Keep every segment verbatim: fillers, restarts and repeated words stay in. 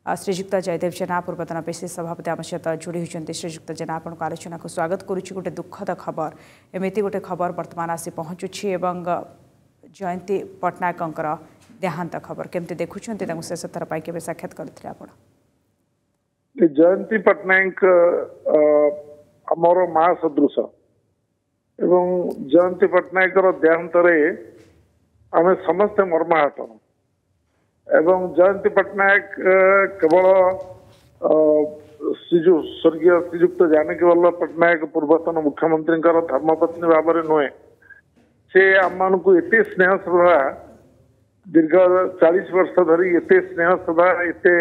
ଶ୍ରୀଯୁକ୍ତ ଜୟଦେବ ଜେନା, ପୂର୍ବତନ ପିସିସି ସଭାପତି, ଆମ ସହିତ ଯୋଡ଼ି ହୋଇଛନ୍ତି। ଶ୍ରୀଯୁକ୍ତ ଜେନା, ଆପଣଙ୍କ ଆଲୋଚନାକୁ ସ୍ୱାଗତ କରୁଛି। ଗୋଟେ ଦୁଃଖଦ ଖବର, ଏମିତି ଗୋଟେ ଖବର ବର୍ତ୍ତମାନ ଆସି ପହଞ୍ଚୁଛି ଏବଂ ଜୟନ୍ତୀ ପଟ୍ଟନାୟକଙ୍କର ଦେହାନ୍ତ ଖବର, କେମିତି ଦେଖୁଛନ୍ତି ତାଙ୍କୁ? ଶେଷ ଥର ପାଇଁ କେବେ ସାକ୍ଷାତ କରିଥିଲେ ଆପଣ? ଜୟନ୍ତୀ ପଟ୍ଟନାୟକ ଆମର ମା ସଦୃଶ ଏବଂ ଜୟନ୍ତୀ ପଟ୍ଟନାୟକର ଦେହାନ୍ତରେ ଆମେ ସମସ୍ତେ ମର୍ମାହତ। ଏବଂ ଜୟନ୍ତୀ ପଟ୍ଟନାୟକ କେବଳ ଶ୍ରୀଯୁ ସ୍ୱର୍ଗୀୟ ଶ୍ରୀଯୁକ୍ତ ଜାନକୀ ବଲ୍ଲଭ ପଟ୍ଟନାୟକ ପୂର୍ବତନ ମୁଖ୍ୟମନ୍ତ୍ରୀଙ୍କର ଧର୍ମପତ୍ନୀ ଭାବରେ ନୁହେଁ, ସେ ଆମମାନଙ୍କୁ ଏତେ ସ୍ନେହ ଶ୍ରଦ୍ଧା, ଦୀର୍ଘ ଚାଳିଶ ବର୍ଷ ଧରି ଏତେ ସ୍ନେହ ଶ୍ରଦ୍ଧା, ଏତେ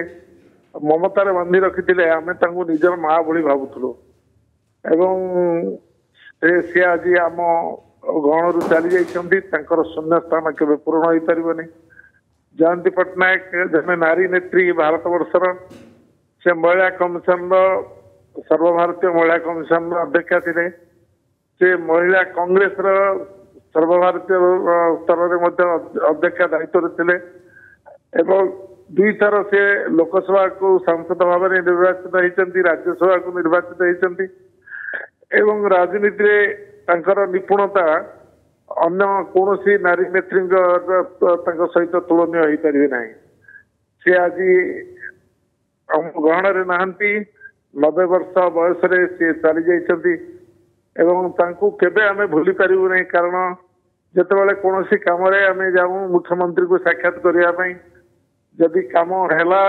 ମମତାରେ ବାନ୍ଧି ରଖିଥିଲେ, ଆମେ ତାଙ୍କୁ ନିଜର ମା ଭଳି ଭାବୁଥିଲୁ। ଏବଂ ସେ ଆଜି ଆମ ଗହଣରୁ ଚାଲି ଯାଇଛନ୍ତି, ତାଙ୍କର ଶୂନ୍ୟ ସ୍ଥାନ କେବେ ପୂରଣ ହେଇପାରିବନି। ଜୟନ୍ତୀ ପଟ୍ଟନାୟକ ଜଣେ ନାରୀ ନେତ୍ରୀ ଭାରତ ବର୍ଷର। ସେ ମହିଳା କମିଶନର, ସର୍ବଭାରତୀୟ ମହିଳା କମିଶନର ଅଧ୍ୟକ୍ଷା ଥିଲେ। ସେ ମହିଳା କଂଗ୍ରେସର ସର୍ବଭାରତୀୟ ସ୍ତରରେ ମଧ୍ୟ ଅଧ୍ୟକ୍ଷା ଦାୟିତ୍ୱରେ ଥିଲେ ଏବଂ ଦୁଇଥର ସେ ଲୋକସଭାକୁ ସାଂସଦ ଭାବରେ ନିର୍ବାଚିତ ହେଇଛନ୍ତି, ରାଜ୍ୟସଭାକୁ ନିର୍ବାଚିତ ହେଇଛନ୍ତି। ଏବଂ ରାଜନୀତିରେ ତାଙ୍କର ନିପୁଣତା ଅନ୍ୟ କୌଣସି ନାରୀ ନେତ୍ରୀଙ୍କ ତାଙ୍କ ସହିତ ତୁଳନୀୟ ହେଇପାରିବେ ନାହିଁ। ସେ ଆଜି ଆମ ଗହଣରେ ନାହାନ୍ତି, ନବେ ବର୍ଷ ବୟସରେ ସେ ଚାଲି ଯାଇଛନ୍ତି ଏବଂ ତାଙ୍କୁ କେବେ ଆମେ ଭୁଲି ପାରିବୁ ନାହିଁ। କାରଣ ଯେତେବେଳେ କୌଣସି କାମରେ ଆମେ ଯାଉ ମୁଖ୍ୟମନ୍ତ୍ରୀଙ୍କୁ ସାକ୍ଷାତ କରିବା ପାଇଁ, ଯଦି କାମ ହେଲା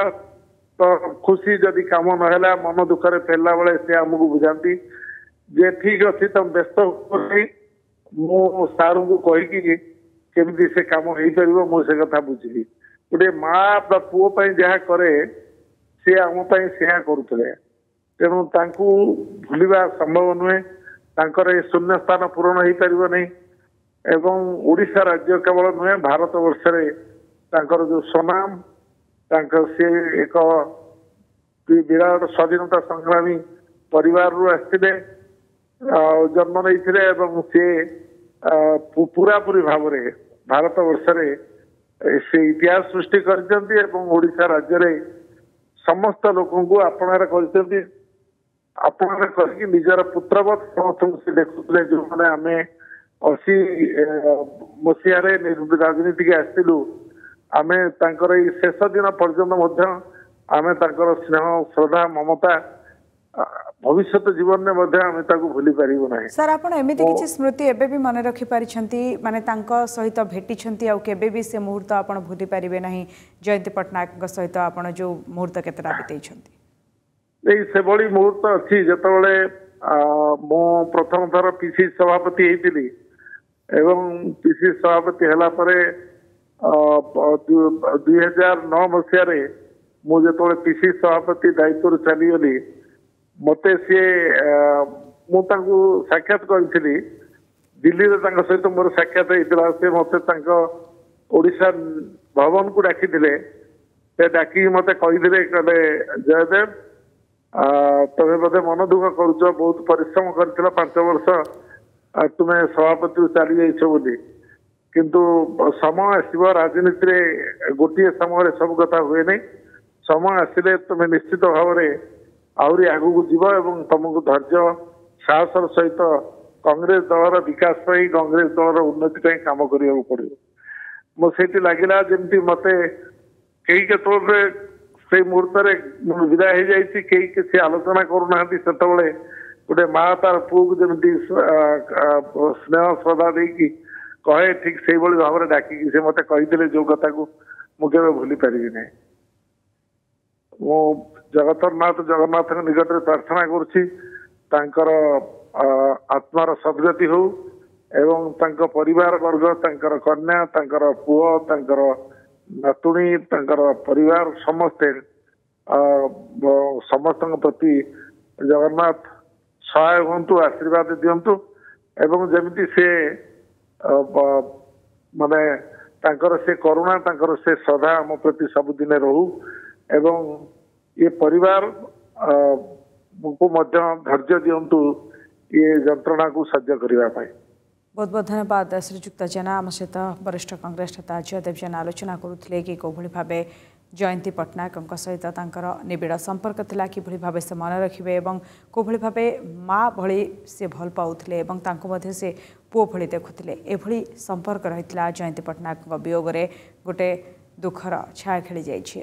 ତ ଖୁସି, ଯଦି କାମ ନହେଲା ମନ ଦୁଃଖରେ ଫେରିଲା ବେଳେ ସେ ଆମକୁ ବୁଝାନ୍ତି ଯେ ଠିକ ଅଛି, ତମେ ବ୍ୟସ୍ତ ହୁଅନି, ମୁଁ ସାରଙ୍କୁ କହିକି କେମିତି ସେ କାମ ହେଇପାରିବ ମୁଁ ସେ କଥା ବୁଝିବି। ଗୋଟେ ମା ବା ପୁଅ ପାଇଁ ଯାହା କରେ, ସେ ଆମ ପାଇଁ ସେୟା କରୁଥିଲେ। ତେଣୁ ତାଙ୍କୁ ଭୁଲିବା ସମ୍ଭବ ନୁହେଁ, ତାଙ୍କର ଏ ଶୂନ୍ୟ ସ୍ଥାନ ପୂରଣ ହେଇପାରିବ ନାହିଁ। ଏବଂ ଓଡ଼ିଶା ରାଜ୍ୟ କେବଳ ନୁହେଁ, ଭାରତ ବର୍ଷରେ ତାଙ୍କର ଯୋଉ ସୁନାମ, ତାଙ୍କ ସେ ଏକ ବିରାଟ ସ୍ୱାଧୀନତା ସଂଗ୍ରାମୀ ପରିବାରରୁ ଆସିଥିଲେ, ଜନ୍ମ ନେଇଥିଲେ ଏବଂ ସେ ପୁରାପୁରି ଭାବରେ ଭାରତ ବର୍ଷରେ ସେ ଇତିହାସ ସୃଷ୍ଟି କରିଛନ୍ତି ଏବଂ ଓଡ଼ିଶା ରାଜ୍ୟରେ ସମସ୍ତ ଲୋକଙ୍କୁ ଆପଣାର କରିଛନ୍ତି। ଆପଣାର କରିକି ନିଜର ପୁତ୍ରବତ୍ ସମସ୍ତଙ୍କୁ ସେ ଦେଖୁଥିଲେ। ଯୋଉମାନେ ଆମେ ଅଶୀ ମସିହାରେ ରାଜନୀତିକି ଆସିଥିଲୁ, ଆମେ ତାଙ୍କର ଏଇ ଶେଷ ଦିନ ପର୍ଯ୍ୟନ୍ତ ମଧ୍ୟ ଆମେ ତାଙ୍କର ସ୍ନେହ, ଶ୍ରଦ୍ଧା, ମମତା ଭବିଷ୍ୟତ ଜୀବନରେ ମଧ୍ୟ ଆମେ ତାକୁ ଭୁଲି ପାରିବୁ ନାହିଁ। ସାର୍, ଆପଣ ଏମିତି କିଛି ସ୍ମୃତି ଏବେ ବି ମନେ ରଖିପାରିଛନ୍ତି, ମାନେ ତାଙ୍କ ସହିତ ଭେଟିଛନ୍ତି ଆଉ କେବେ ବି ସେ ମୁହୂର୍ତ୍ତ ଆପଣ ଭୁଲି ପାରିବେ ନାହିଁ, ଜୟନ୍ତୀ ପଟ୍ଟନାୟକଙ୍କ ସହିତ ଆପଣ ଯୋଉ ମୁହୂର୍ତ୍ତ କେତେଟା ବିତେଇଛନ୍ତି? ଏଇ ସେଭଳି ମୁହୂର୍ତ୍ତ ଅଛି, ଯେତେବେଳେ ମୁଁ ପ୍ରଥମ ଥର ପିସି ସଭାପତି ହେଇଥିଲି ଏବଂ ପିସି ସଭାପତି ହେଲା ପରେ ଦୁଇ ହଜାର ନଅ ମସିହାରେ ମୁଁ ଯେତେବେଳେ ପିସି ସଭାପତି ଦାୟିତ୍ୱରୁ ଚାଲିଗଲି, ମତେ ସିଏ, ମୁଁ ତାଙ୍କୁ ସାକ୍ଷାତ କରିଥିଲି ଦିଲ୍ଲୀରେ, ତାଙ୍କ ସହିତ ମୋର ସାକ୍ଷାତ ହେଇଥିଲା। ସେ ମତେ ତାଙ୍କ ଓଡ଼ିଶା ଭବନକୁ ଡାକିଥିଲେ। ସେ ଡାକିକି ମତେ କହିଥିଲେ, କହିଲେ, ଜୟଦେବ, ତମେ ବୋଧେ ମନ ଦୁଃଖ କରୁଛ, ବହୁତ ପରିଶ୍ରମ କରିଥିଲ ପାଞ୍ଚ ବର୍ଷ, ତୁମେ ସଭାପତିରୁ ଚାଲି ଯାଇଛ ବୋଲି। କିନ୍ତୁ ସମୟ ଆସିବ, ରାଜନୀତିରେ ଗୋଟିଏ ସମୟରେ ସବୁ କଥା ହୁଏନି, ସମୟ ଆସିଲେ ତୁମେ ନିଶ୍ଚିତ ଭାବରେ ଆହୁରି ଆଗକୁ ଯିବ ଏବଂ ତମକୁ ଧୈର୍ଯ୍ୟ ସାହସର ସହିତ କଂଗ୍ରେସ ଦଳର ବିକାଶ ପାଇଁ, କଂଗ୍ରେସ ଦଳର ଉନ୍ନତି ପାଇଁ କାମ କରିବାକୁ ପଡିବ। ମୁଁ ସେଇଠି ଲାଗିଲା ଯେମିତି ମତେ କେହି କେତେବେଳେ ସେଇ ମୁହୂର୍ତ୍ତରେ ମୁଁ ବିଦାୟ ହେଇଯାଇଛି, କେହି କିଛି ଆଲୋଚନା କରୁନାହାନ୍ତି, ସେତେବେଳେ ଗୋଟେ ମା ତାର ପୁଅକୁ ଯେମିତି ସ୍ନେହ ଶ୍ରଦ୍ଧା ଦେଇକି କହେ, ଠିକ ସେଇଭଳି ଭାବରେ ଡାକିକି ସେ ମତେ କହିଥିଲେ, ଯୋଉ କଥାକୁ ମୁଁ କେବେ ଭୁଲି ପାରିବି ନାହିଁ। ମୁଁ ଜଗତର ନାଥ ଜଗନ୍ନାଥଙ୍କ ନିକଟରେ ପ୍ରାର୍ଥନା କରୁଛି ତାଙ୍କର ଆତ୍ମାର ସଦ୍ଗତି ହଉ ଏବଂ ତାଙ୍କ ପରିବାର ବର୍ଗ, ତାଙ୍କର କନ୍ୟା, ତାଙ୍କର ପୁଅ, ତାଙ୍କର ନାତୁଣୀ, ତାଙ୍କର ପରିବାର ସମସ୍ତେ, ସମସ୍ତଙ୍କ ପ୍ରତି ଜଗନ୍ନାଥ ସହାୟ ହୁଅନ୍ତୁ, ଆଶୀର୍ବାଦ ଦିଅନ୍ତୁ ଏବଂ ଯେମିତି ସେ ମାନେ ତାଙ୍କର ସେ କରୁଣା, ତାଙ୍କର ସେ ଶ୍ରଦ୍ଧା ଆମ ପ୍ରତି ସବୁଦିନେ ରହୁ ଏବଂ ଏ ପରିବାର କୁ ମଧ୍ୟ ଧୈର୍ଯ୍ୟ ଦିଅନ୍ତୁ ଏ ଯନ୍ତ୍ରଣାକୁ ସହ୍ୟ କରିବା ପାଇଁ। ବହୁତ ବହୁତ ଧନ୍ୟବାଦ ଶ୍ରୀଯୁକ୍ତ ଜେନା। ଆମ ସହିତ ବରିଷ୍ଠ କଂଗ୍ରେସ ନେତା ଜୟଦେବ ଜେନା ଆଲୋଚନା କରୁଥିଲେ କି କେଉଁଭଳି ଭାବେ ଜୟନ୍ତୀ ପଟ୍ଟନାୟକଙ୍କ ସହିତ ତାଙ୍କର ନିବିଡ଼ ସମ୍ପର୍କ ଥିଲା, କିଭଳି ଭାବେ ସେ ମନେ ରଖିବେ ଏବଂ କେଉଁଭଳି ଭାବେ ମା ଭଳି ସେ ଭଲ ପାଉଥିଲେ ଏବଂ ତାଙ୍କୁ ମଧ୍ୟ ସେ ପୁଅ ଭଳି ଦେଖୁଥିଲେ, ଏଭଳି ସମ୍ପର୍କ ରହିଥିଲା। ଜୟନ୍ତୀ ପଟ୍ଟନାୟକଙ୍କ ବିୟୋଗରେ ଗୋଟେ ଦୁଃଖର ଛାୟା ଖେଳିଯାଇଛି।